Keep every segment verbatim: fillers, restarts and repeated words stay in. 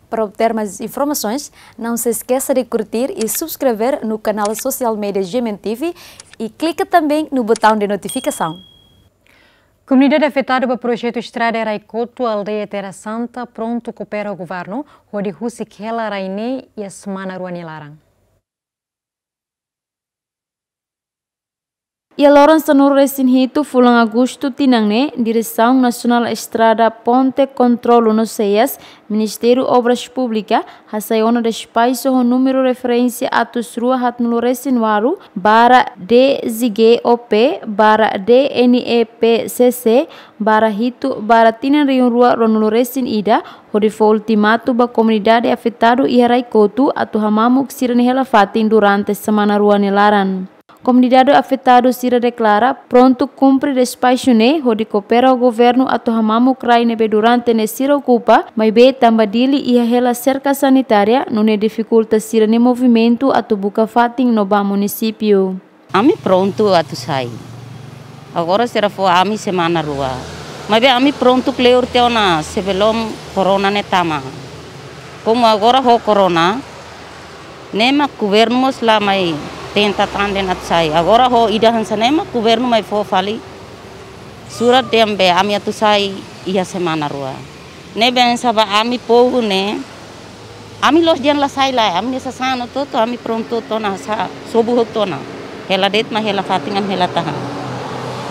Para obter mais informações, não se esqueça de curtir e subscrever no canal social media G M N T V e clica também no botão de notificação. Komunidade afetadu ba projetu estrada Raikotu, aldeia Terra Santa, prontu koopera ho governu hodi husik hela rai ne'e iha semana rua nia laran. Iha loron sanulu-resin-hitu fulan Agostu tinan ne'e, Diresaun Nasionál Estrada, Ponte, Kontrolu no Seias, Ministériu Obras Públikas, hasai ona despaxu ho númeru referénsia atus rua haatnulu-resin-ualu barra D Z G O P barra D N E P C C barra hitu barra tinan rihun rua ruanulu-resin-ida, hodi fó ultimatu ba komunidade afetadu iha Raikotu atu hamamuk sira-nia hela-fatin durante semana rua nia laran. Komunidade afetadu sira deklara prontu kumpre despaxu ne'e hodi koopera ho governu atu hamamuk rai ne'ebé durante ne'e sira okupa, maibé tanba Dili iha hela serka sanitária, nune'e difikulta sira-nia movimentu atu buka fatin no ba munisípiu. Ami prontu atu sai. Agora sira fó ami semana rua. Maibé ami prontu kleur tiha ona sebelum korona ne'e tama. Komu agora ho korona, ne'e mak governu mós la mai tenta tan dehan atu sai. Agora ho ida hanesan ne'e mak governu mai fó fali surat dehan be ami atu sai iha semana rua. Ne'ebé hanesan ba ami povu ne'e, ami la'ós dehan la sai lae, ami-nia sasán hotu-hotu, ami prontu hotu ona, sa, sobu hotu ona. Hela de'it mak hela-fatin ami hela tahan.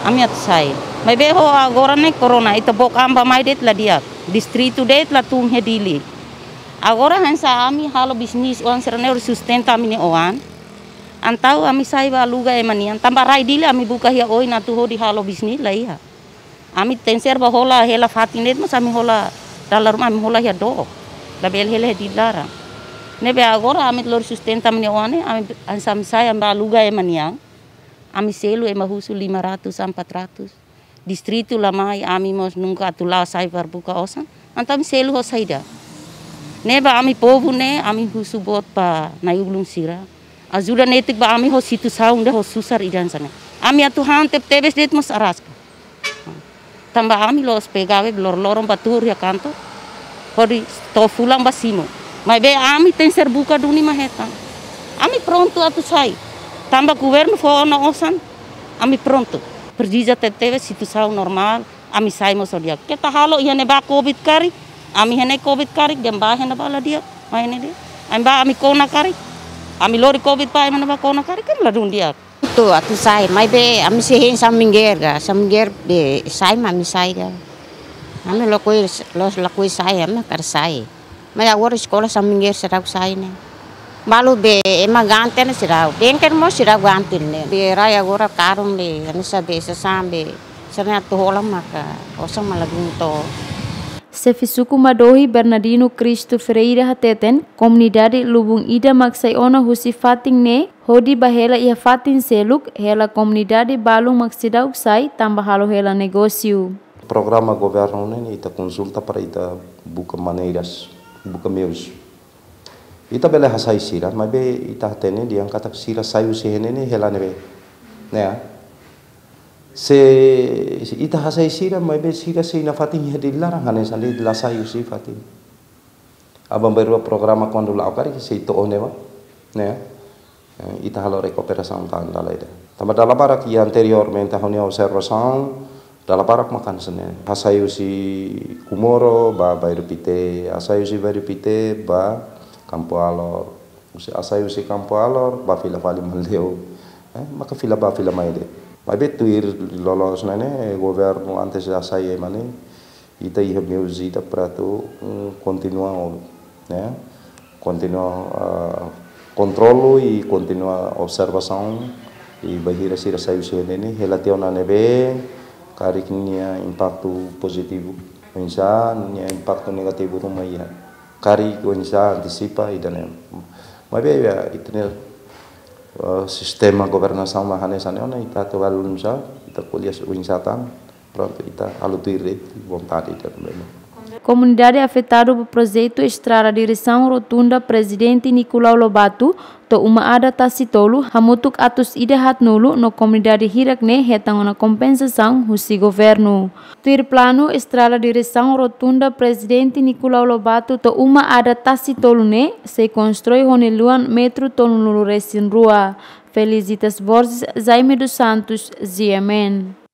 Ami atu sai. Maibé ho agora ne'e korona, ita book an bá-mai de'it la di'ak. Distritu de'it la tun iha Dili. Agora hanesan ami halo bisnis oan sira-ne'e hodi sustenta ami-nia oan. Entaun ami sai bá aluga ema nian. Tanba rai Dili ami buka iha oin atu hodi halo bisnis la iha. Ami tenke ser bá hola hela-fatin de'it mós ami hola dala ruma ami hola iha dook. Labele hela iha Dili laran. Ne'ebé agora ami lori sustenta ami-nia oan ne'e, ami hanesan ami sai ami bá aluga ema nian. Ami selu ema husu lima ratus, empat ratus. Distritu la mai, ami mós nunka atu la'o sai para buka osan. Entaun ami selu ho saida? Ne'ebé ami povu ne'e, ami husu boot ba na'i-ulun sira. Ajuda netik ba ami ho situasaun ida ho susar ida hanesan ne'e. Ami atu han tebe-tebes de'it mós araska. Tanba ami la'ós pegawai lor-loron bá tuur iha kantor. Hodi to'o fulan bá simu. Maibé ami tenke ser buka duni mak hetan. Ami prontu atu sai. Tanba governu fó ona osan, ami prontu. Presiza tebe-tebes situasaun normál, ami sai mós ho di'ak. Keta halo iha ne'ebá covid karik, ami iha ne'e covid karik, dehan bá iha ne'ebá la di'ak, mai iha ne'e de'it. Ami bá ami kona karik, ami lori covid bá iha ne'ebá kona karik, kan ladún di'ak. Atu, atu sai, maibé ami sei hein saminggeer ka, saminggeer be sai mak ami sai ka. Ami lakohi, la'ós lakohi sai, ami hakarak sai. Maibé agora eskola saminggeer seidauk sai ne'e. Balu be ema ganti ne'e seidauk. Bengkel mós seidauk ganti ne'e. Be rai agora karun be, hanesan be sasán be, sira-ne'e atu hola maka osan mak ladún to'o. Xefe Suku Madohi Bernardino Cristo Ferreira hateten, komunidade lubun ida mak sai ona husi fatin ne'e, hodi bá hela iha fatin seluk, hela komunidade balun mak seidauk sai, tanba halo hela negósiu. Programa governu ne'e, ita konsulta para ita buka maneiras, buka meius. Ita bele hasai sira, maibé ita hatene dehan katak sira sai husi iha ne'e ne'e hela ne'ebé. Ne'e. Se, se ita hasai sira, maibé sira sei nafatin iha Dili laran, hanesan de'it la sai husi fatin. Aban-bainrua programa kuandu la'o karik sei to'o ne'ebá, ne'e. Eh, ita halo rekuperasaun tan dala ida. Tanba dala barak iha anteriormente ha'u-nia observasaun, dala barak mak hanesan ne'e. Hasai husi Comoro bá Bairru Pité, hasai husi Bairru Pité bá Campo Alor. Husi, hasai husi Campo Alor bá fila fali Maldeu. Eh, maka fila bá fila mai de'it. Maibé tuir loloos ne'e ne'e, governu antes de hasai ema ne'e, ita iha meius ida para atu, mm, kontinua, ne'e? Kontinua, ah, kontrolu i kontinua observasaun i bainhira sira sai husi iha ne'e ne'e, hela tiha ona ne'ebé, karik nia impaktu pozitivu, oinsá nia impaktu negativu ruma iha. Karik oinsá antisipa ida-ne'e. Maibé, ya, ita-nia, eh, sistema governasaun mak hanesan ne'e ona, ita atu halo oinsá, ita ko'alia oinsá tan, prontu, ita halo tuir de'it vontade ita-nia. Komunidade afetadu ba projetu estrada diresaun rotunda Prezidente Nicolau Lobato to'o uma adat Tasitolu hamutuk atus ida haat-nulu no komunidade hirak ne'e hetan ona kompensasaun husi governu. Tuir planu, estrada diresaun rotunda Prezidente Nicolau Lobato to'o uma adat Tasitolu ne'e sei konstrui ho nia luan metru tolunulu resin rua. Felicitas Borges, Jaime dos Santos, G M N.